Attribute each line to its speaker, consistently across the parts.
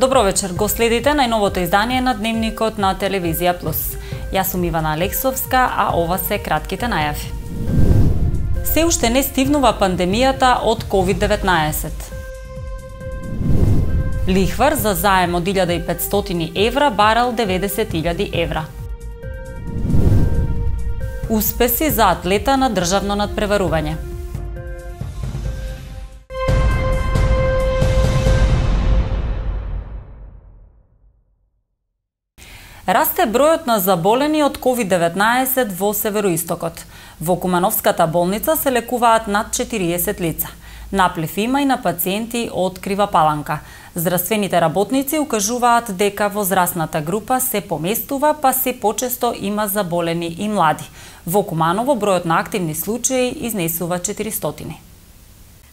Speaker 1: Добро вечер, го следите најновото издание на Дневникот на Телевизија Плюс. Јас сум Ивана Алексовска, а ова се кратките најави. Се уште не стивнува пандемијата од COVID-19. Лихвар за заем од 1500 евра барал 90.000 евра. Успеси за атлета на државно надпреварување. Расте бројот на заболени од COVID-19 во Североистокот. Во Кумановската болница се лекуваат над 40 лица. Наплив има и на пациенти од Крива Паланка. Здравствените работници укажуваат дека возрастната група се поместува, па се почесто има заболени и млади. Во Куманово бројот на активни случаи изнесува 400.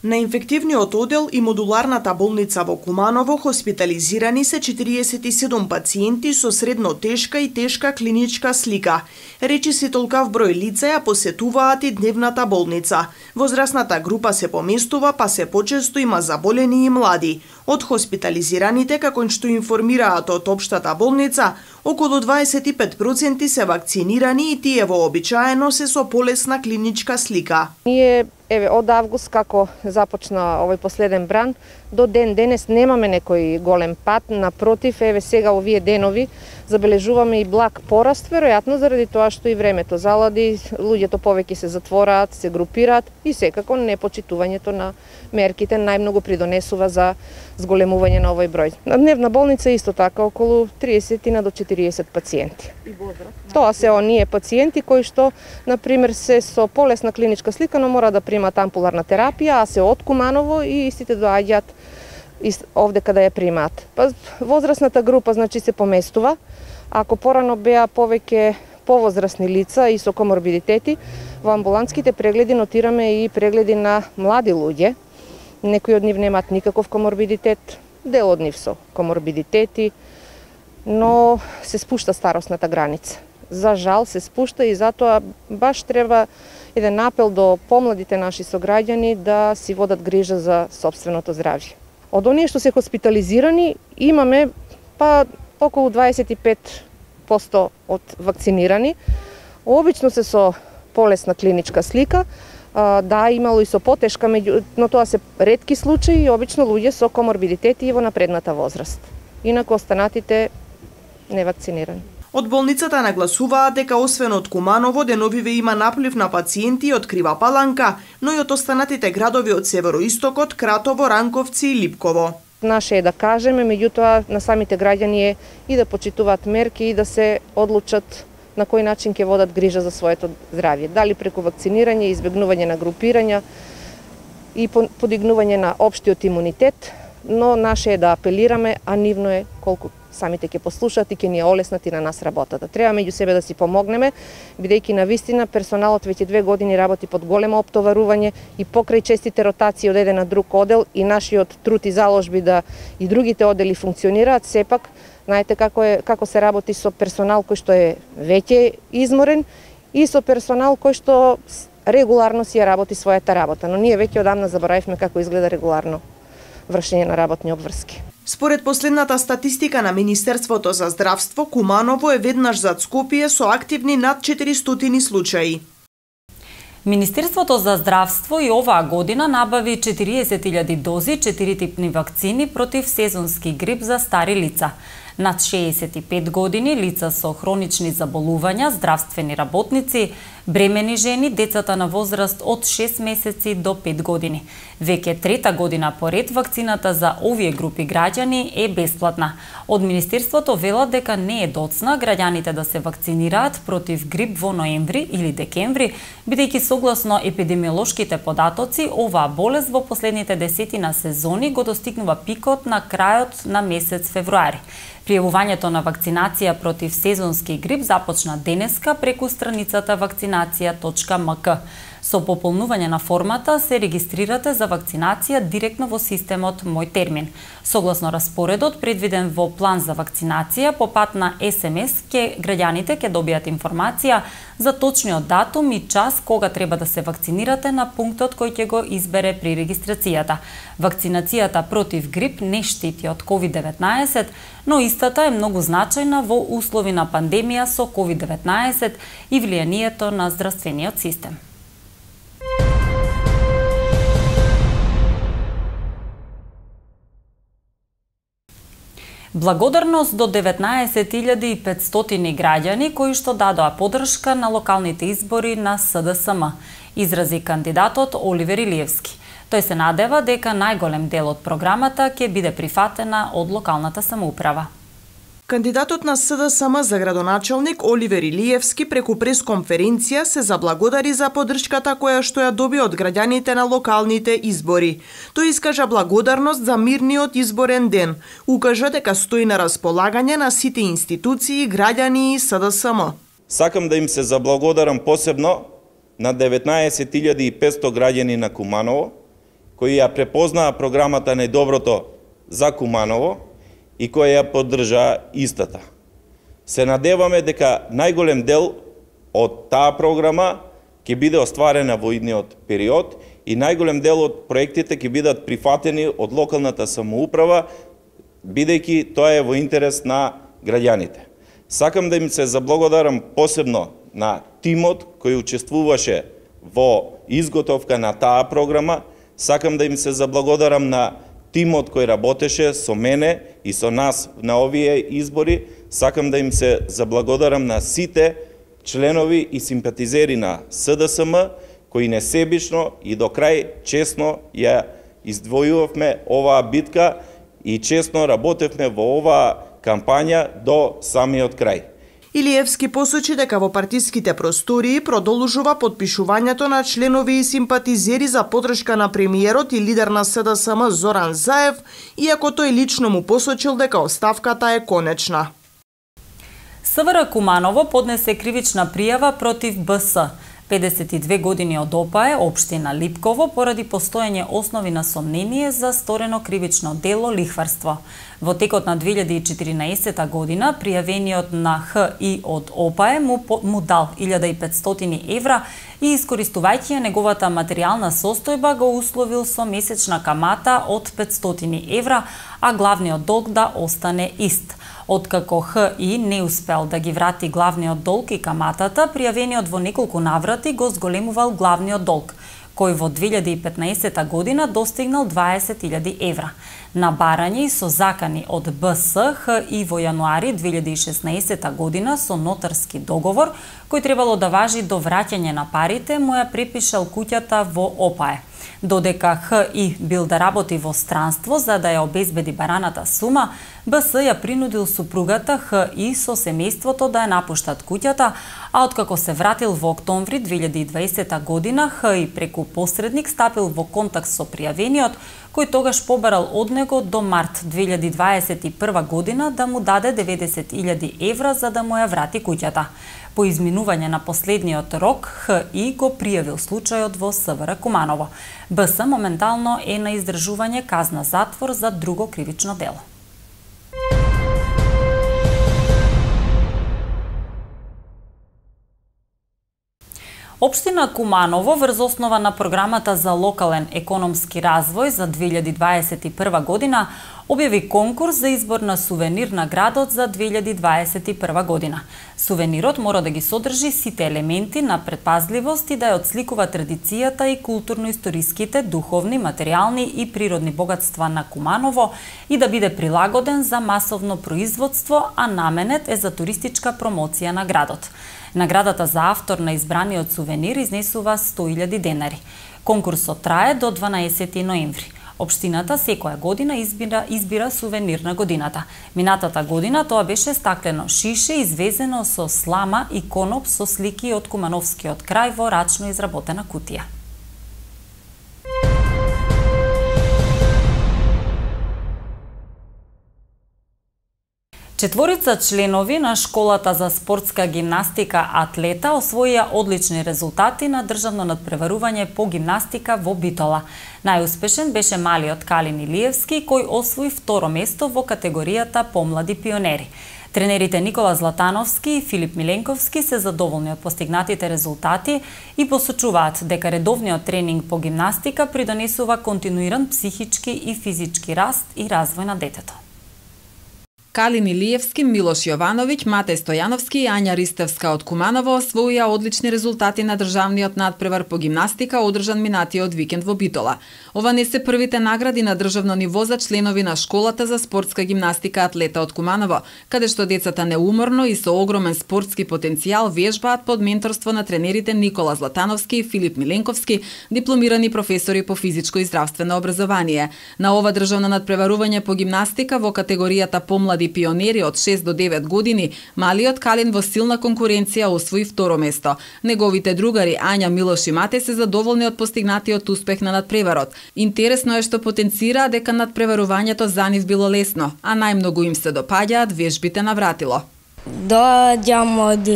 Speaker 2: На инфективниот оддел и модуларната болница во Куманово хоспитализирани се 47 пациенти со средно тешка и тешка клиничка слика. Речиси толкав број лица ја посетуваат и дневната болница. Возрастната група се поместува, па се почесто има заболени и млади. Од хоспитализираните, како што информираат од општата болница, околу 25% се вакцинирани и тие вообичаено се со полесна клиничка слика.
Speaker 3: Ние од август како започна овој последен бран, до ден денес немаме некој голем пат, напротив, сега овие денови забележуваме и благ пораст, веројатно заради тоа што и времето залади, луѓето повеќе се затвораат, се групираат и секако непочитувањето на мерките најмногу придонесува за зголемување на овој број. На дневна болница исто така околу 30 до 40 пациенти. Тоа се оние пациенти кои што, например, се со полесна клиничка слика, но мора да примат ампуларна терапија, а се од Куманово и истите доаѓаат овде каде ја примаат. Па возрастната група значи се поместува. Ако порано беа повеќе повозрастни лица и со коморбидитети, во амбулантските прегледи нотираме и прегледи на млади луѓе. Некои од нив немаат никаков коморбидитет, дел од нив со коморбидитети, но се спушта старосната граница. За жал се спушта и затоа баш треба еден апел до помладите наши сограѓани да си водат грижа за сопственото здравје. Од оние што се хоспитализирани имаме па околу 25% од вакцинирани. Обично се со полесна клиничка слика, да, имало и со потешка, но тоа се ретки случаи и обично луѓе со коморбидитети и во напредната возраст. Инаку останатите невакцинирани.
Speaker 2: Од болницата нагласуваат дека освен од Куманово, деновиве има наплив на пациенти од Крива Паланка, но и од останатите градови од Североистокот, Кратово, Ранковци и Липково.
Speaker 3: Наше е да кажеме, меѓутоа на самите граѓани е и да почитуваат мерки и да се одлучат на кој начин ќе водат грижа за своето здравје. Дали преку вакцинирање, избегнување на групирања и подигнување на општиот имунитет, но наше е да апелираме, а нивно е колку самите ќе послушаат и ќе ни олеснат и на нас работата. Треба меѓу себе да си помогнеме, бидејќи навистина персоналот веќе 2 години работи под големо оптоварување и покрај честите ротации од еден на друг одел и нашиот труд и заложби да и другите одели функционираат, сепак знаете како се работи со персонал кој што е веќе изморен и со персонал кој што регуларно си ја работи својата работа, но ние веќе одамна заборавивме како изгледа регуларно вршење на работни обврски.
Speaker 2: Според последната статистика на Министерството за здравство, Куманово е веднаш зад Скопје со активни над 400 случаи.
Speaker 1: Министерството за здравство и оваа година набави 40.000 дози 4-типни вакцини против сезонски грип за стари лица. Над 65 години, лица со хронични заболувања, здравствени работници, бремени жени, децата на возраст од 6 месеци до 5 години. Веќе трета година поред вакцината за овие групи граѓани е бесплатна. Од Министерството велат дека не е доцна граѓаните да се вакцинираат против грип во ноември или декември, бидејќи согласно епидемиолошките податоци, оваа болест во последните десетина сезони го достигнува пикот на крајот на месец февруари. Пријавувањето на вакцинација против сезонски грип започна денеска преку страницата вакцинација.мк. Со пополнување на формата се регистрирате за вакцинација директно во системот Мој термин. Согласно распоредот предвиден во план за вакцинација, по пат на СМС граѓаните ќе добијат информација за точниот датум и час кога треба да се вакцинирате на пунктот кој ќе го избере при регистрацијата. Вакцинацијата против грип не штити од COVID-19, но истата е многу значајна во услови на пандемија со COVID-19 и влијанието на здравствениот систем. Благодарност до 19.500 граѓани кои што дадоа поддршка на локалните избори на СДСМ, изрази кандидатот Оливер Илиевски. Тој се надева дека најголем дел од програмата ќе биде прифатена од локалната самоуправа.
Speaker 2: Кандидатот на СДСМ за градоначалник Оливер Илиевски преку пресконференција се заблагодари за поддршката која што ја доби од граѓаните на локалните избори. Тој искажа благодарност за мирниот изборен ден. Укажа дека стои на располагање на сите институции, граѓани и СДСМ.
Speaker 4: Сакам да им се заблагодарам посебно на 19.500 граѓани на Куманово, кои ја препознаа програмата Најдоброто за Куманово и која ја поддржа истата. Се надеваме дека најголем дел од таа програма ќе биде остварена во идниот период и најголем дел од проектите ќе бидат прифатени од локалната самоуправа, бидејќи тоа е во интерес на граѓаните. Сакам да им се заблагодарам посебно на тимот кој учествуваше во изготовка на таа програма. Сакам да им се заблагодарам на тимот кој работеше со мене и со нас на овие избори. Сакам да им се заблагодарам на сите членови и симпатизери на СДСМ, кои несебично и до крај честно ја издвојувавме оваа битка и честно работевме во оваа кампања до самиот крај.
Speaker 2: Илиевски посочи дека во партиските простории продолжува подпишувањето на членови и симпатизери за поддршка на премиерот и лидер на СДСМ Зоран Заев, иако тој лично му посочил дека оставката е конечна.
Speaker 1: СВР Куманово поднесе кривична пријава против БС. 52 години од ОПАЕ, општина Липково, поради постоење основи на сомнение за сторено кривично дело лихварство. Во текот на 2014 година, пријавениот на ХИ од ОПАЕ му дал 1500 евра и, искористувајќи ја неговата материјална состојба, го условил со месечна камата од 500 евра, а главниот долг да остане ист. Откако ХИ не успел да ги врати главниот долг и каматата, пријавениот во неколку наврати го зголемувал главниот долг, кој во 2015 година достигнал 20.000 евра. На барање и со закани од БС, ХИ во јануари 2016 година со нотарски договор, кој требало да важи до враќање на парите, му ја препишал куќата во ОПАЕ. Додека ХИ бил да работи во странство за да ја обезбеди бараната сума, БС ја принудил супругата ХИ со семејството да ја напуштат куќата, а откако се вратил во октомври 2020 година, ХИ преку посредник стапил во контакт со пријавениот, кој тогаш побарал од него до март 2021 година да му даде 90.000 евра за да му ја врати куќата. По изминување на последниот рок, ХИ го пријавил случајот во СВР Куманово. БС моментално е на издржување казна затвор за друго кривично дело. Општина Куманово врз основа на програмата за локален економски развој за 2021 година објави конкурс за избор на сувенир на градот за 2021 година. Сувенирот мора да ги содржи сите елементи на предпазливост и да ја отсликува традицијата и културно-историските, духовни, материјални и природни богатства на Куманово и да биде прилагоден за масовно производство, а наменет е за туристичка промоција на градот. Наградата за автор на избраниот сувенир изнесува 100.000 денари. Конкурсот трае до 12 ноември. Општината секоја година избира сувенир на годината. Минатата година тоа беше стаклено шише извезено со слама и коноп со слики од Кумановскиот крај во рачно изработена кутија. Четворица членови на школата за спортска гимнастика Атлета освоија одлични резултати на државно надпреварување по гимнастика во Битола. Најуспешен беше малиот Калин Илиевски, кој освои второ место во категоријата помлади пионери. Тренерите Никола Златановски и Филип Миленковски се задоволни од постигнатите резултати и посочуваат дека редовниот тренинг по гимнастика придонесува континуиран психички и физички раст и развој на детето.
Speaker 5: Калин Илиевски, Милош Јовановиќ, Матеј Стојановски и Ања Ристевска од Куманово освоија одлични резултати на државниот надпревар по гимнастика одржан минатиот викенд во Битола. Ова не се првите награди на државно ниво за членови на школата за спортска гимнастика Атлета од Куманово, каде што децата неуморно и со огромен спортски потенцијал вежбаат под менторство на тренерите Никола Златановски и Филип Миленковски, дипломирани професори по физичко и здравствено образование. На ова државно надпреварување по гимнастика во категоријата помлади пионери од 6 до 9 години, малиот Калин во силна конкуренција освои второ место. Неговите другари Ања, Милош и Матеј се задоволни од постигнатиот успех на надпреварот. Интересно е што потенцираа дека надпреварувањето за нив било лесно, а најмногу им се допаѓаат вежбите на вратило.
Speaker 6: Доаѓам од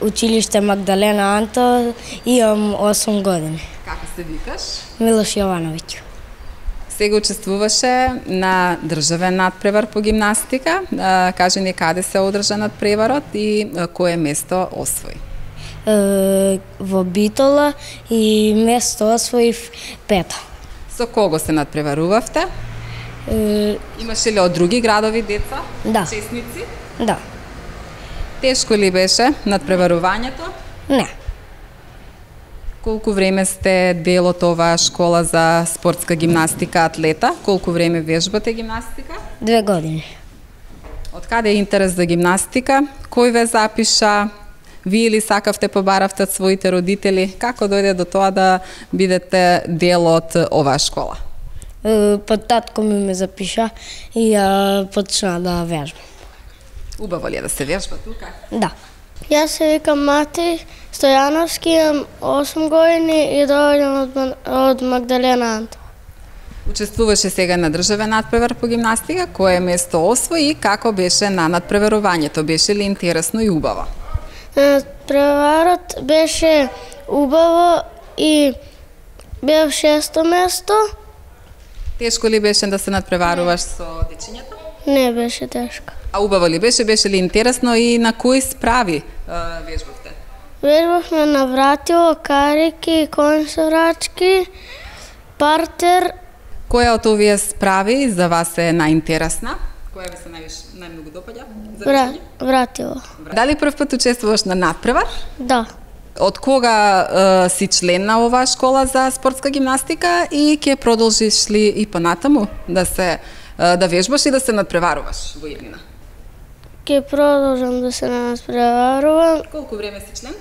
Speaker 6: училиште Магдалена Анто, имам 8 години.
Speaker 5: Како се викаш?
Speaker 6: Милош Јовановиќ.
Speaker 5: Сега учествуваше на државен надпревар по гимнастика. Кажи ни каде се одржа надпреварот и кое место освои?
Speaker 6: Во Битола и место освоив 5.
Speaker 5: Со кого се надпреварувавте? Имаше ли од други градови деца?
Speaker 6: Да.
Speaker 5: Учесници?
Speaker 6: Да.
Speaker 5: Тешко ли беше надпреварувањето?
Speaker 6: Не.
Speaker 5: Колку време сте дел од оваа школа за спортска гимнастика Атлета? Колку време вежбате гимнастика?
Speaker 6: 2 години.
Speaker 5: Од каде е интерес за гимнастика? Кој ве запиша? Вие ли сакавте, побаравте од своите родители? Како дојде до тоа да бидете дел од оваа школа?
Speaker 6: Татко ми ме запиша и ја почна да вежбам.
Speaker 5: Убаво ли е да се вежба тука?
Speaker 6: Да.
Speaker 7: Јас се викам Матеј Стојановски, имам 8 години и доаѓам од Магдалена Анто.
Speaker 5: Учествуваше сега на државен надпревар по гимнастика, кое место освои и како беше на надпреварувањето? Беше ли интересно и убаво?
Speaker 7: Надпреварот беше убаво и бев 6-то место.
Speaker 5: Тешко ли беше да се надпреваруваш со дечињата?
Speaker 7: Не беше тешко.
Speaker 5: А убаво ли беше? Беше ли интересно и на кои справи вежбавте?
Speaker 7: Вежбавме на вратило, карики, консорачки, партер.
Speaker 5: Која од овие справи за вас е најинтересна? Која ви се најмногу допаѓа?
Speaker 7: Вратило.
Speaker 5: Дали прв пат учествуваш на надпревар?
Speaker 7: Да.
Speaker 5: Од кога си член на оваа школа за спортска гимнастика и ќе продолжиш ли и понатаму да вежбаш и да се надпреваруваш во иднина?
Speaker 7: Ќе продолжам да се надпреварувам.
Speaker 5: Колку време си член?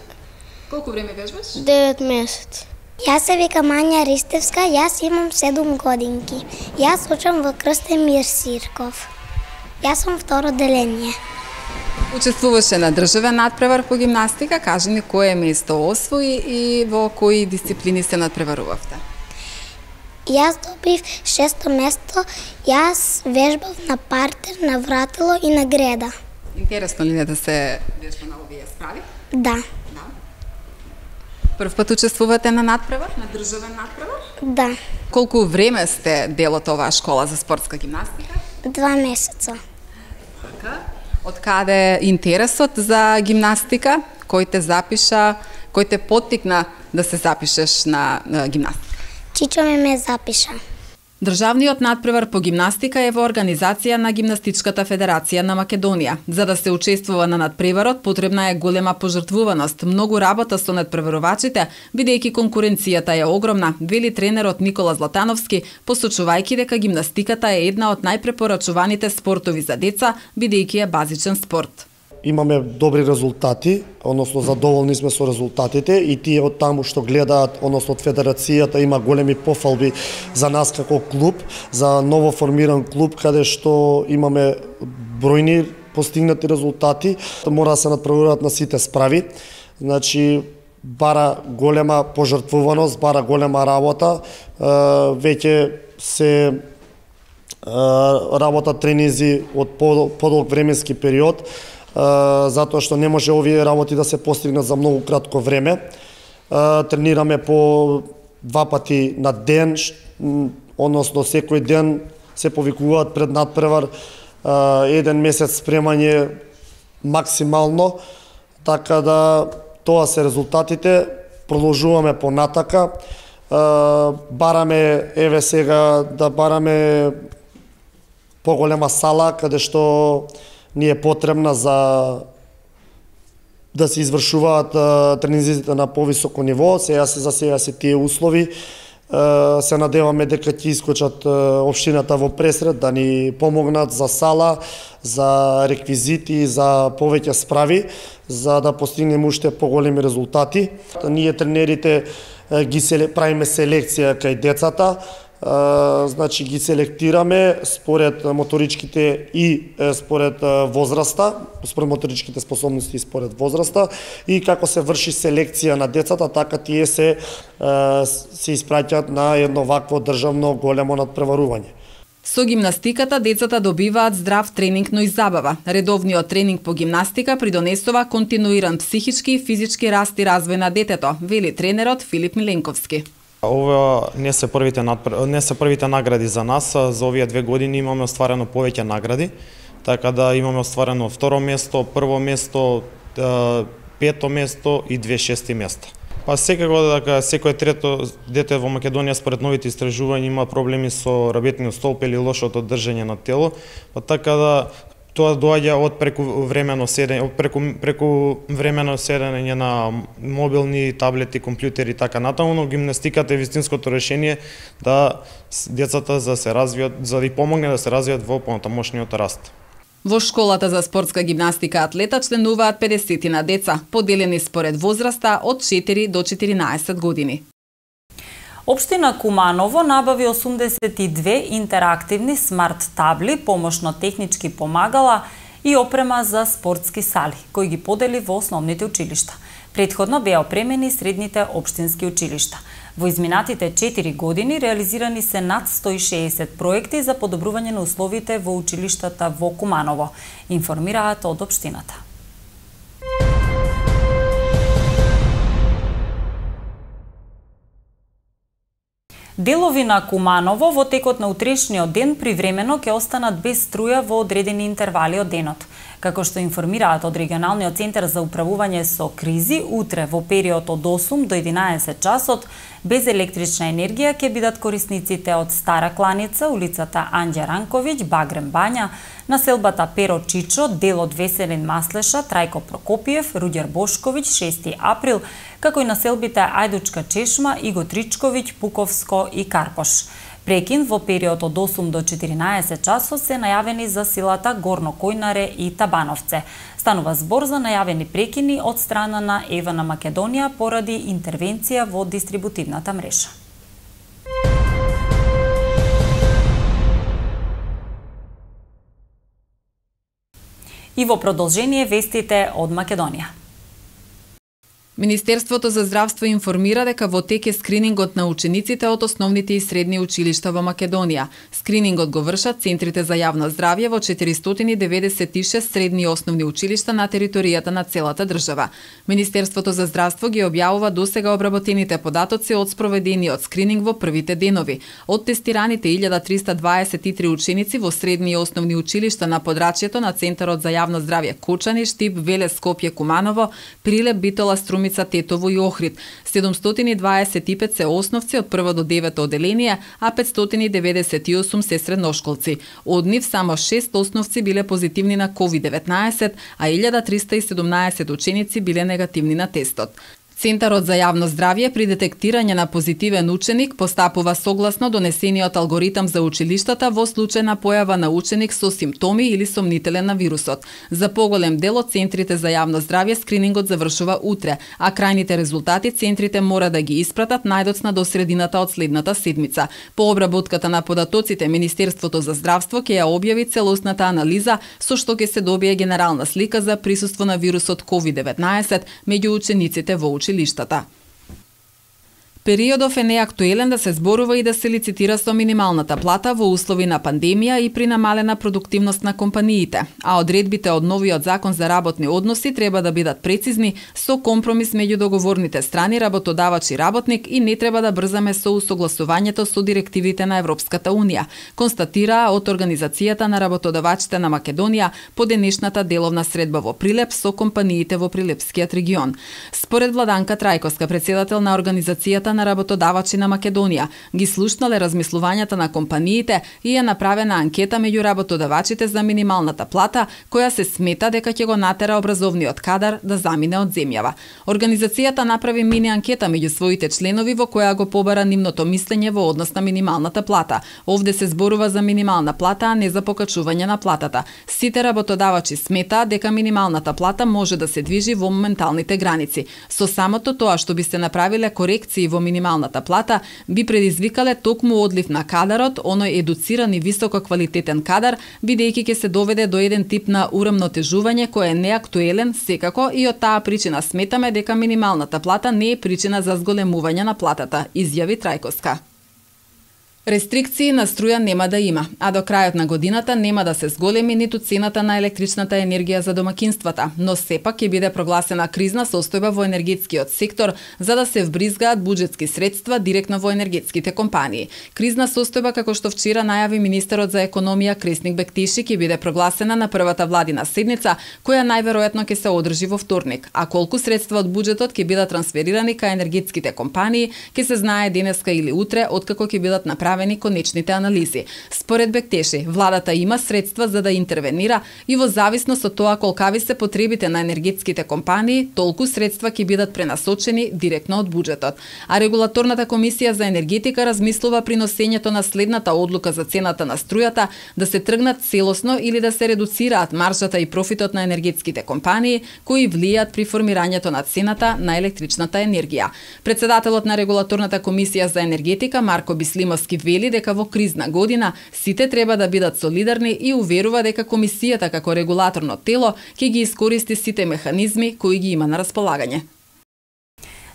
Speaker 5: Колку време вежбаш?
Speaker 7: 9 месеци.
Speaker 8: Јас се викам Ања Ристевска, јас имам 7 годинки. Јас учам во Крстемир Сирков. Јас сум второ деление.
Speaker 5: Учествуваше на државен надпревар по гимнастика, кажи ни кое место освои и во кои дисциплини се надпреварувавте?
Speaker 8: Јас добив 6-то место, јас вежбав на партер, на вратило и на греда.
Speaker 5: Интересно ли е да се вежба на овие справи?
Speaker 8: Да.
Speaker 5: Прв пат учествувате на надпревар, на државен надпревар?
Speaker 8: Да.
Speaker 5: Колку време сте дел од оваа школа за спортска гимнастика?
Speaker 8: 2 месеца.
Speaker 5: Од каде интересот за гимнастика? Кој те запиша, кој те поттикна да се запишеш на гимнастика?
Speaker 8: Чичо ме запиша.
Speaker 5: Државниот надпревар по гимнастика е во организација на Гимнастичката федерација на Македонија. За да се учествува на надпреварот, потребна е голема пожртвуваност, многу работа со надпреварувачите, бидејќи конкуренцијата е огромна, вели тренерот Никола Златановски, посочувајќи дека гимнастиката е една од најпрепорачуваните спортови за деца, бидејќи е базичен спорт.
Speaker 9: Имаме добри резултати, односно задоволни сме со резултатите и тие од таму што гледаат, односно од федерацијата има големи пофалби за нас како клуб, за ново формиран клуб каде што имаме бројни постигнати резултати, мора да се надпреваруваат на сите справи. Значи бара голема пожртвуваност, бара голема работа, веќе се работат тренинзи од подолг временски период, затоа што не може овие работи да се постигнат за многу кратко време. Тренираме по 2 пати на ден, односно секој ден се повикуваат пред надпревар 1 месец спремање максимално, така да тоа се резултатите. Продолжуваме понатака. Бараме еве сега да бараме поголема сала каде што ни е потребна за да се извршуваат тренинзите на повисоко ниво. За сега се тие услови. Се надеваме дека ќе искочат општината во Пресред да ни помогнат за сала, за реквизити, за повеќе справи, за да постигнеме уште поголеми резултати. Ние тренерите правиме селекција кај децата, значи ги селектираме според моторичките и според возраста, според моторичките способности и според возраста, и како се врши селекција на децата, така тие се испраќаат на едно вакво државно големо надпреварување.
Speaker 5: Со гимнастиката децата добиваат здрав тренинг, но и забава. Редовниот тренинг по гимнастика придонесува континуиран психички и физички раст и развој на детето, вели тренерот Филип Миленковски.
Speaker 10: Ова не се првите награди за нас. За овие 2 години имаме остварено повеќе награди, така да имаме остварено 2-ро место, 1-во место, 5-то место и 2 шести места. Па секако дека секој трето дете во Македонија според новите истражувања има проблеми со работниот столб или лошото држење на тело, па така да тоа доаѓа од прекувремено седење на мобилни, таблети, компјутери и така натаму, но гимнастиката е вистинското решение да децата за се развијат, за да ги помогне да се развијат во понатамошниот раст.
Speaker 5: Во школата за спортска гимнастика Атлета членуваат 50 на деца, поделени според возраста од 4 до 14 години.
Speaker 1: Општина Куманово набави 82 интерактивни смарт табли, помошно-технички помагала и опрема за спортски сали, кои ги подели во основните училишта. Претходно беа опремени средните општински училишта. Во изминатите 4 години реализирани се над 160 проекти за подобрување на условите во училиштата во Куманово, информираат од општината. Делови на Куманово во текот на утрешниот ден привремено ќе останат без струја во одредени интервали од денот. Како што информираат од регионалниот центар за управување со кризи, утре во период од 8 до 11 часот без електрична енергија ќе бидат корисниците од Стара Кланица, улицата Анѓа Ранковиќ, Багрем Бања, населбата Перо Чичо, дел од Веселин Маслеша, Трајко Прокопиев, Руѓер Бошковиќ, 6 април, како и населбите Ајдучка Чешма, Иго Тричковиќ, Пуковско и Карпош. Прекин во период од 8 до 14 часот се најавени за силата Горно Којнаре и Табановце. Станува збор за најавени прекини од страна на ЕВА на Македонија поради интервенција во дистрибутивната мрежа. И во продолжение вестите од Македонија.
Speaker 5: Министерството за здравство информира дека во тек е скринингот на учениците од основните и средни училишта во Македонија. Скринингот го вршат центрите за јавно здравје во 496 средни и основни училишта на територијата на целата држава. Министерството за здравство ги објавува досега обработените податоци од спроведениот скрининг во првите денови. Од тестираните 1323 ученици во средни и основни училишта на подрачјето на Центарот за јавно здравје Кучани, Штип, Велес, Скопје, Куманово, Прилеп, Битола, Тетово и Охрид. 725 се основци од 1 до 9 оделение, а 598 се средношколци. Од нив само 6 основци биле позитивни на COVID-19, а 1317 ученици биле негативни на тестот. Центарот за јавно здравје при детектирање на позитивен ученик постапува согласно донесениот алгоритам за училиштата во случај на појава на ученик со симптоми или сомнителен на вирусот. За поголем дел од центрите за јавно здравје скринингот завршува утре, а крајните резултати центрите мора да ги испратат најдоцна до средината од следната седмица. По обработката на податоците, Министерството за здравство ќе ја објави целосната анализа со што ќе се добие генерална слика за присуство на вирусот COVID-19 меѓу учениците во училиштата. Периодов е неактуелен да се зборува и да се лицитира со минималната плата во услови на пандемија и при намалена продуктивност на компаниите, а одредбите од новиот закон за работни односи треба да бидат прецизни со компромис меѓу договорните страни, работодавач и работник, и не треба да брзаме со усогласувањето со директивите на Европската Унија, констатираа од Организацијата на работодавачите на Македонија по денешната деловна средба во Прилеп со компаниите во Прилепскиот регион. Според Владанка Трајковска, председател на Организацијата на работодавачи на Македонија, ги слушнале размислувањата на компаниите и е направена анкета меѓу работодавачите за минималната плата, која се смета дека ќе го натера образовниот кадар да замине од земјава. Организацијата направи мини анкета меѓу своите членови во која го побара нивното мислење во однос на минималната плата. Овде се зборува за минимална плата, а не за покачување на платата. Сите работодавачи сметаат дека минималната плата може да се движи во моменталните граници. Со самото тоа што би се направиле корекции во минималната плата, би предизвикале токму одлив на кадарот, оној едуциран и висококвалитетен кадар, бидејќи ќе се доведе до еден тип на урамнотежување кој е неактуелен секако, и од таа причина сметаме дека минималната плата не е причина за зголемување на платата, изјави Трајковска. Рестрикции на струја нема да има, а до крајот на годината нема да се зголеми ниту цената на електричната енергија за домакинствата, но сепак ќе биде прогласена кризна состојба во енергетскиот сектор за да се вбризгаат буџетски средства директно во енергетските компании. Кризна состојба, како што вчера најави министерот за економија Кресник Бектиши, ќе биде прогласена на првата владина седница, која најверојатно ќе се одржи во вторник, а колку средства од буџетот ќе бидат трансферирани кај енергетските компании ќе се знае денеска или утре, откако ќе бидат направени конечните анализи. Според Бектеши, владата има средства за да интервенира и во зависност од тоа колкави се потребите на енергетските компании, толку средства ќе бидат пренасочени директно од буџетот. А регулаторната комисија за енергетика размислува при носењето на следната одлука за цената на струјата да се тргнат целосно или да се редуцираат маржата и профитот на енергетските компании кои влијаат при формирањето на цената на електричната енергија. Председателот на регулаторната комисија за енергетика Марко Бислимовски вели дека во кризна година сите треба да бидат солидарни и уверува дека комисијата како регулаторно тело ќе ги искористи сите механизми кои ги има на располагање.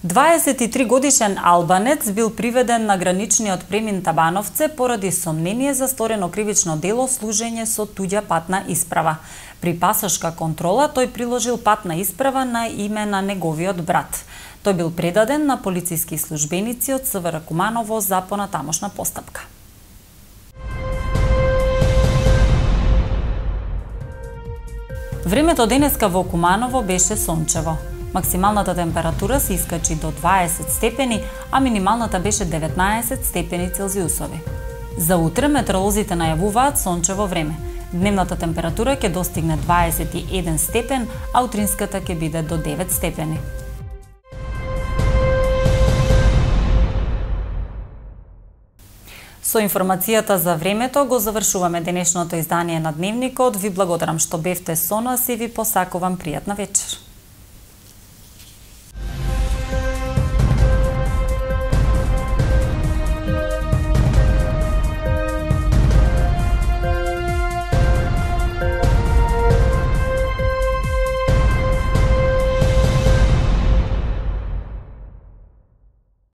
Speaker 1: 23 годишен албанец бил приведен на граничниот премин Табановце поради сомнение за сторено кривично дело служење со туѓа патна исправа. При пасошка контрола тој приложил патна исправа на име на неговиот брат. Тој бил предаден на полициски службеници од СВР Куманово за понатамошна постапка. Времето денеска во Куманово беше сончево. Максималната температура се искачи до 20 степени, а минималната беше 19 степени Целзиусови. За утре метеоролозите најавуваат сончево време. Дневната температура ќе достигне 21 степен, а утринската ќе биде до 9 степени. Со информацијата за времето го завршуваме денешното издание на Дневникот. Ви благодарам што бевте со нас и ви посакувам пријатна вечер.